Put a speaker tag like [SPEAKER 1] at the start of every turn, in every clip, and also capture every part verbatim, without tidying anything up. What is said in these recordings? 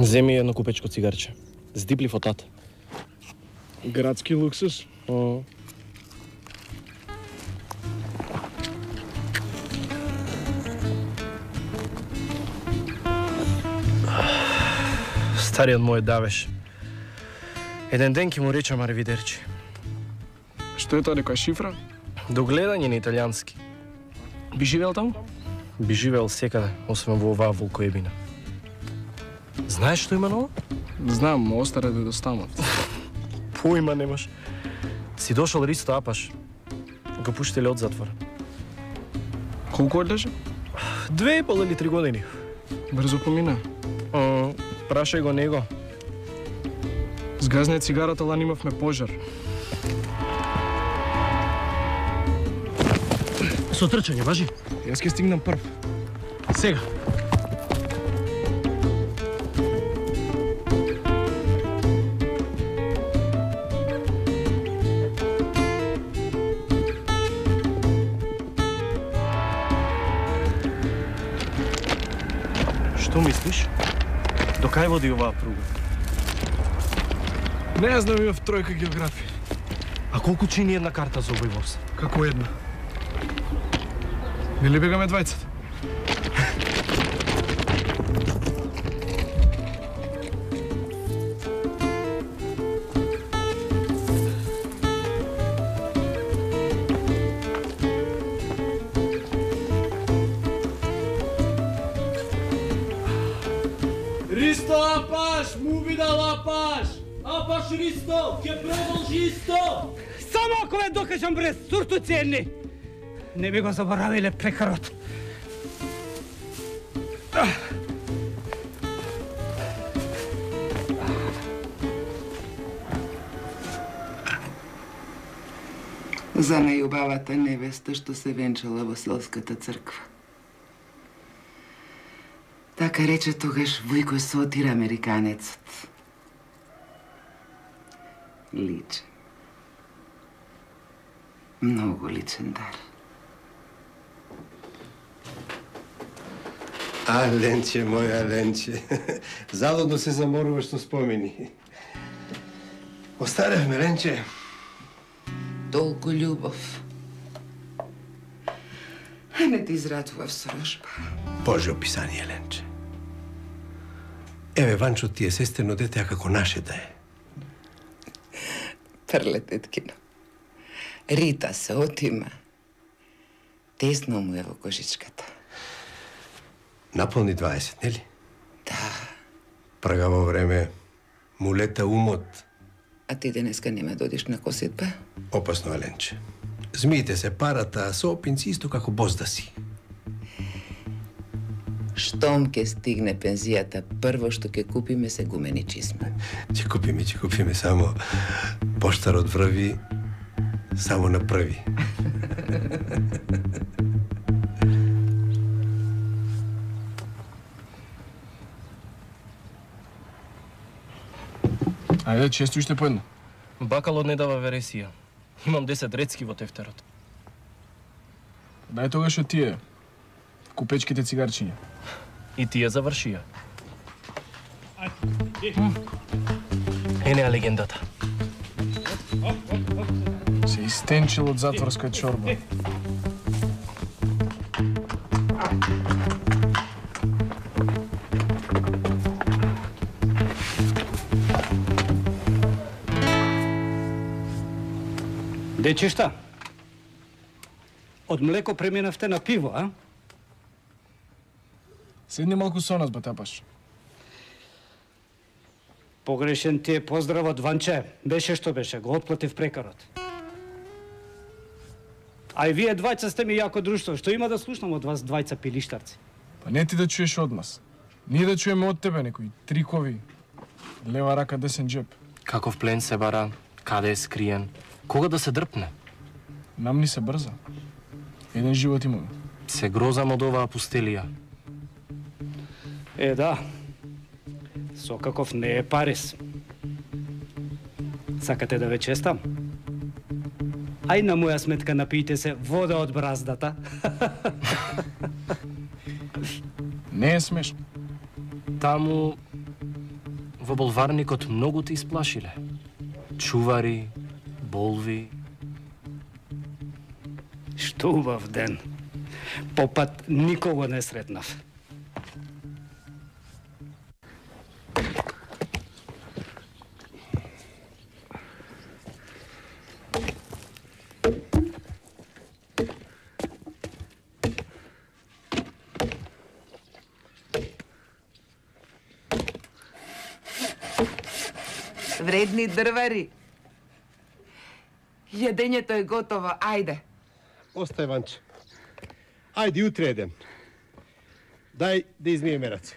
[SPEAKER 1] Земи едно купечко цигарче. Здипли фотата.
[SPEAKER 2] Градски луксус?
[SPEAKER 1] О. Стариот мој давеш. Еден ден ќе му речам аревидерчи.
[SPEAKER 2] Што е тоа, некоја шифра?
[SPEAKER 1] До гледање на италијански.
[SPEAKER 2] Би живеел таму?
[SPEAKER 1] Би живеел секаде, освен во оваа волкоебина. Знаеш што има ново?
[SPEAKER 2] Знам, остара да достанат.
[SPEAKER 1] Поима немаш. Си дошол Ристо Апаш. Го пуштиле од затвор.
[SPEAKER 2] Колку одлежа?
[SPEAKER 1] Две и пол или три години.
[SPEAKER 2] Брзо помина.
[SPEAKER 1] О, прашај го него.
[SPEAKER 2] Згазне цигарата, лани имавме пожар.
[SPEAKER 1] Со трчање, важи?
[SPEAKER 2] Јас ќе стигнам прв.
[SPEAKER 1] Сега. Што мислиш? До кај води оваа пруга?
[SPEAKER 2] Не знам, имав тројка географија.
[SPEAKER 1] А колку чини една карта за овој воз?
[SPEAKER 2] Како една? Нели бегаме двајцата?
[SPEAKER 3] Ристо Апаш, му видал Апаш! Апаш Ристо, ќе продолжи исто!
[SPEAKER 4] Само ако ве докажам бре, сурту ценни! Не би го заборавиле прекарот.
[SPEAKER 5] За најубавата невеста што се венчала во селската црква. Така рече тогаш Вујко Сотир, американецот. Личен. Многу личен дар.
[SPEAKER 6] А, Ленче, моја Ленче. Залудно се заморуваш со спомени. Остаревме, Ленче.
[SPEAKER 5] Толку љубов. А не ти израдував сорожба.
[SPEAKER 6] Боже описание, Ленче. Еве, Ванчо ти е сестрено дете, а како наше да е.
[SPEAKER 5] Прлететкино. Рита се отима. Тесно му е во кожичката.
[SPEAKER 6] Наполни дваесет, нели?
[SPEAKER 5] Да.
[SPEAKER 6] Прагаво време му лета умот.
[SPEAKER 5] А ти денеска нема да одиш на косетба?
[SPEAKER 6] Опасно, Ленче. Змиите се парата, а со опинци исто како бозда си.
[SPEAKER 5] Штом ке стигне пензијата, прво што ќе купиме се гумени чизми.
[SPEAKER 6] Ќе купиме, ќе купиме, само поштарот врви само на први.
[SPEAKER 2] Ајде, често уште по едно.
[SPEAKER 1] Бакалот не дава вересија. Имам десет рецки во тефтерот.
[SPEAKER 2] Дај тогаш од тие купечките цигарчиња.
[SPEAKER 1] И тие завршија. Енеа легендата.
[SPEAKER 2] Се истенчил од затворска чорба.
[SPEAKER 4] Дечишта, од млеко преминавте на пиво, а?
[SPEAKER 2] Седни малку со нас, Батапаш.
[SPEAKER 4] Погрешен ти е поздравот, Ванче. Беше што беше, го отплатив прекарот. А и вие двајца сте ми јако друштво. Што има да слушнам од вас двајца пилиштарци?
[SPEAKER 2] Па не ти да чуеш од нас. Ние да чуеме од тебе некои трикови. Лева рака, десен джеб.
[SPEAKER 1] Каков плен се бара, каде е скриен, кога да се дрпне?
[SPEAKER 2] Нам ни се брза. Еден живот имаме.
[SPEAKER 1] Се грозам од оваа пустелија.
[SPEAKER 4] Е, да. Со каков не е Парис. Сакате да ве честам? Ај на моја сметка напијте се вода од браздата.
[SPEAKER 2] Не е смешно.
[SPEAKER 1] Таму Во болварникот многу те исплашиле. Чувари, болви.
[SPEAKER 4] Што убав ден. Попат никого не сретнав.
[SPEAKER 5] Вредни дрвари. Јадењето е готово, ајде.
[SPEAKER 6] Остај, Ванче. Ајде, утре едем. Дај да измиеме раце.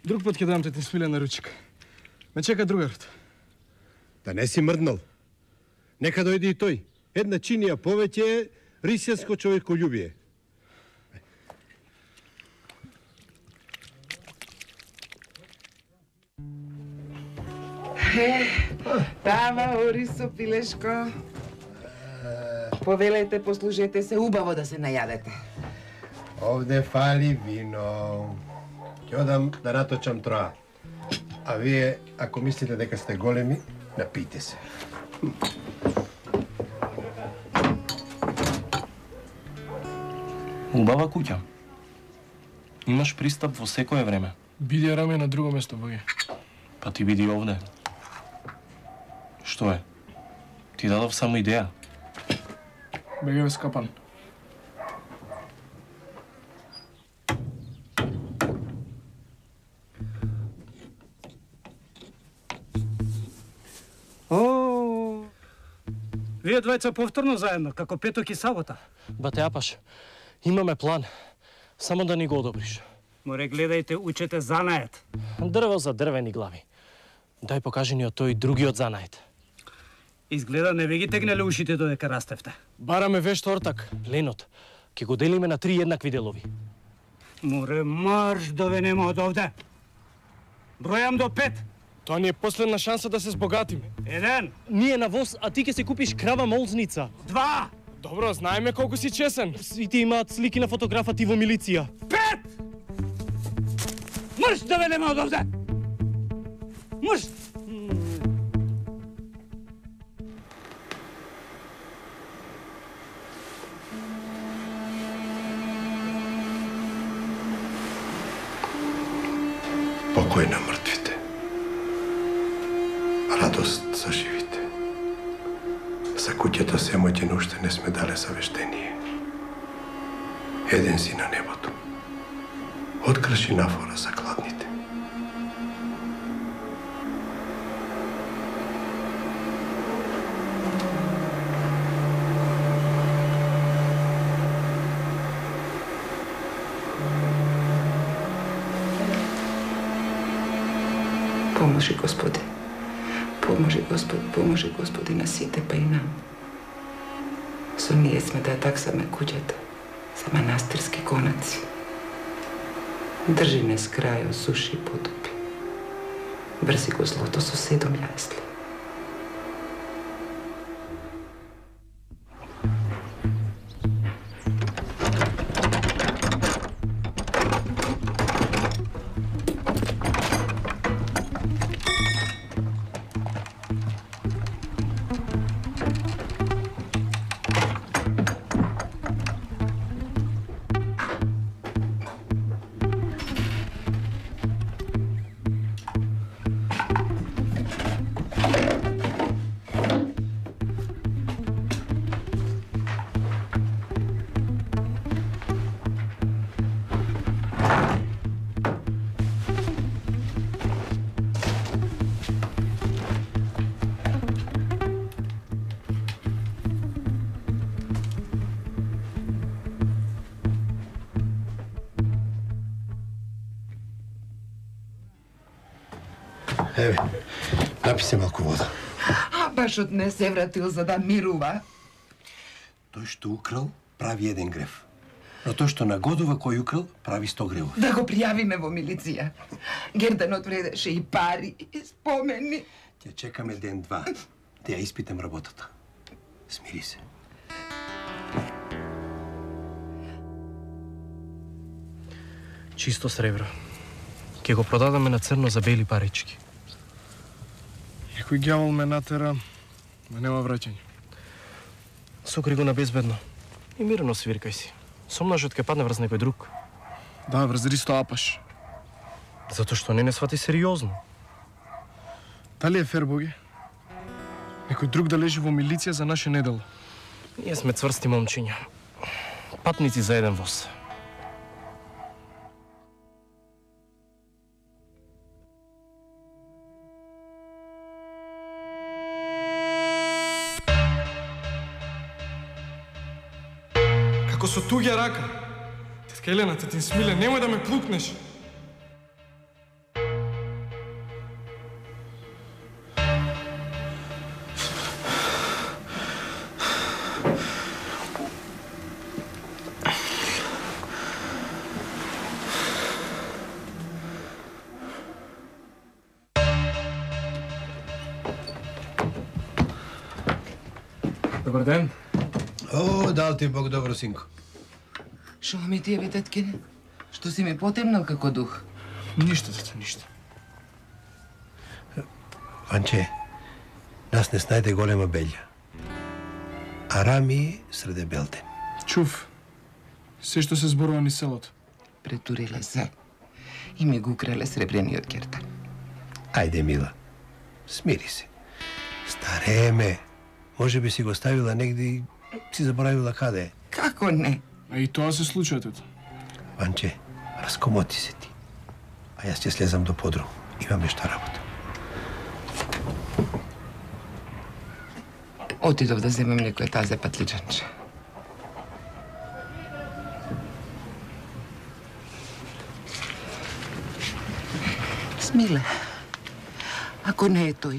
[SPEAKER 2] Друг пат ќе дам те свилена ручка. Ме чека другарот.
[SPEAKER 6] Да не си мрднал. Нека дојде и тој. Една чинија повеќе е рисјанско човеколюбие.
[SPEAKER 5] Е, тама, Орисо, пилешко. Повелете, послужете се, убаво да се најадете.
[SPEAKER 6] Овде фали вино. Ќе одам да наточам троа. А вие, ако мислите дека сте големи, напите се.
[SPEAKER 1] Убава куќа. Имаш пристап во секое време.
[SPEAKER 2] Биди раме на друго место, боги.
[SPEAKER 1] Па ти биди овде. Што е? Ти дадов само идеја.
[SPEAKER 2] Беге скапан.
[SPEAKER 4] О, вие двајца повторно заедно, како петок и сабота.
[SPEAKER 1] Бате Апаш, имаме план. Само да ни го одобриш.
[SPEAKER 4] Море гледајте, учете занаед.
[SPEAKER 1] Дрво за дрвени глави. Дај покажи ни од тој другиот занаед.
[SPEAKER 4] Изгледа не ви ги тегнеле ушите додека растевте.
[SPEAKER 1] Бараме вешт ортак, пленот. Ке го делиме на три еднакви делови.
[SPEAKER 4] Море марш да ве нема од овде. Бројам до пет.
[SPEAKER 2] Тоа ни е последна шанса да се збогатиме.
[SPEAKER 4] Еден,
[SPEAKER 1] Ние на воз, а ти ке се купиш крава молзница.
[SPEAKER 4] два,
[SPEAKER 2] Добро, знаеме колку си чесен.
[SPEAKER 1] Сите имаат слики на фотографа ти во милиција.
[SPEAKER 4] пет! Марш да ве нема од овде! Марш!
[SPEAKER 6] Покој на мртвите. Радост за живите. За куќата семојќен уште не сме дале завештение. Еден си на небото. Открши нафора за кладните.
[SPEAKER 5] Поможи, Господи. Поможи, Господ, поможи, Господи, на сите, па и нам. Со ние сме да ја таксаме куќата за манастирски конаци. Држи не с крај, осуши и потопи. Врзи го злото со седом јасли.
[SPEAKER 6] Еве, напи се малку вода.
[SPEAKER 5] А башот не се вратил за да мирува.
[SPEAKER 6] Тој што украл, прави еден грев. Но тој што нагодува кој украл, прави сто гревов.
[SPEAKER 5] Да го пријавиме во милиција. Герданот вредеше и пари, и спомени.
[SPEAKER 6] Ќе чекаме ден-два, да ја испитам работата. Смири се.
[SPEAKER 1] Чисто сребро. Ке го продадаме на црно за бели парички.
[SPEAKER 2] Некој ѓавол ме натера, ма нема враќање.
[SPEAKER 1] Сокри го на безбедно. И мирно свиркај си. Сомнажот ке падне врз некој друг.
[SPEAKER 2] Да, врз Ристо Апаш.
[SPEAKER 1] Затоа што не не свати сериозно.
[SPEAKER 2] Дали е фер, Боге? Некој друг да лежи во милиција за наше недело.
[SPEAKER 1] Ние сме цврсти момчиња. Патници за еден воз.
[SPEAKER 2] Како со туѓа рака. Тетка Елена, тетин Смиле, немој да ме плукнеш. Добар ден.
[SPEAKER 6] О, дал ти Бог добро, синко.
[SPEAKER 5] Шо ми ти е, бе, теткине? Што си ми потемнал како дух?
[SPEAKER 2] Ништо, тето, ништо.
[SPEAKER 6] Ванче, нас не снајде голема белја. А Рами среде Белден.
[SPEAKER 2] Чув. Се што се зборува ни селото.
[SPEAKER 5] Претуриле се и ми го украле сребрениот кертан.
[SPEAKER 6] Ајде, мила, смири се. Стареме. Може би си го ставила негде и си заборавила каде е.
[SPEAKER 5] Како не?
[SPEAKER 2] А и тоа се случува, тето.
[SPEAKER 6] Ванче, раскомоти се ти. А јас ќе слезам до подрум. Имам нешто работа.
[SPEAKER 5] Отидов да земам некој тазе патличанче. Смиле, ако не е тој,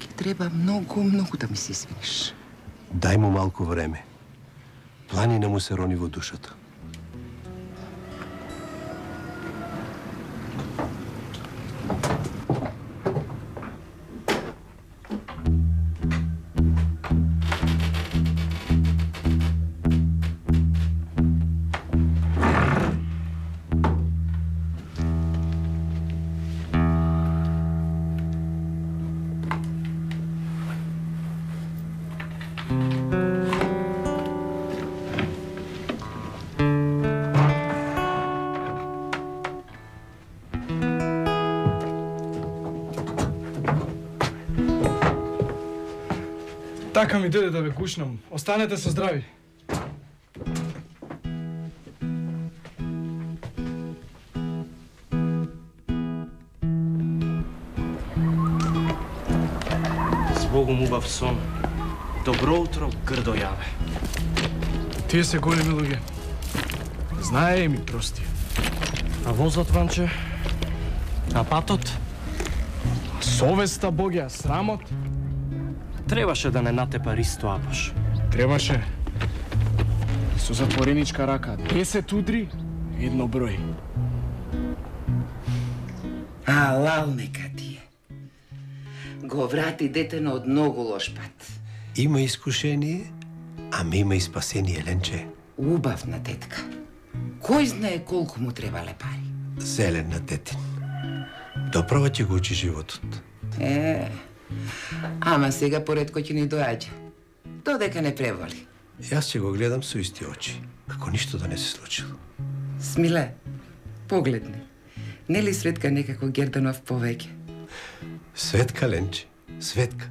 [SPEAKER 5] ќе треба многу, многу да ми се извиниш.
[SPEAKER 6] Дај му малку време. Планина му се рони во душата.
[SPEAKER 2] Така ми дојде да ве кушнам. Останете со здрави.
[SPEAKER 1] Збогум убав сон. Добро утро, грдо јаве.
[SPEAKER 2] Тие се големи луѓе. Знае ми прости.
[SPEAKER 1] А возот, Ванче? А патот?
[SPEAKER 2] Совеста, Боге, а срамот?
[SPEAKER 1] Требаше да не натепа Ристо Апаш.
[SPEAKER 2] Требаше. Со затвореничка рака. десет удри, едно број.
[SPEAKER 5] Алал нека ти е. Го врати детено од многу лош пат.
[SPEAKER 6] Има искушение, ама има и спасение, Ленче.
[SPEAKER 5] Убавна тетка. Кој знае колку му требале пари?
[SPEAKER 6] Зелен на тетин. Доправа ќе го учи животот.
[SPEAKER 5] Е, ама сега поредко ќе ни доаѓа. Додека не преволи.
[SPEAKER 6] Јас ќе го гледам со исти очи, како ништо да не се случило.
[SPEAKER 5] Смиле, погледни. Нели Светка некако Герданов повеќе?
[SPEAKER 6] Светка, Ленче, Светка.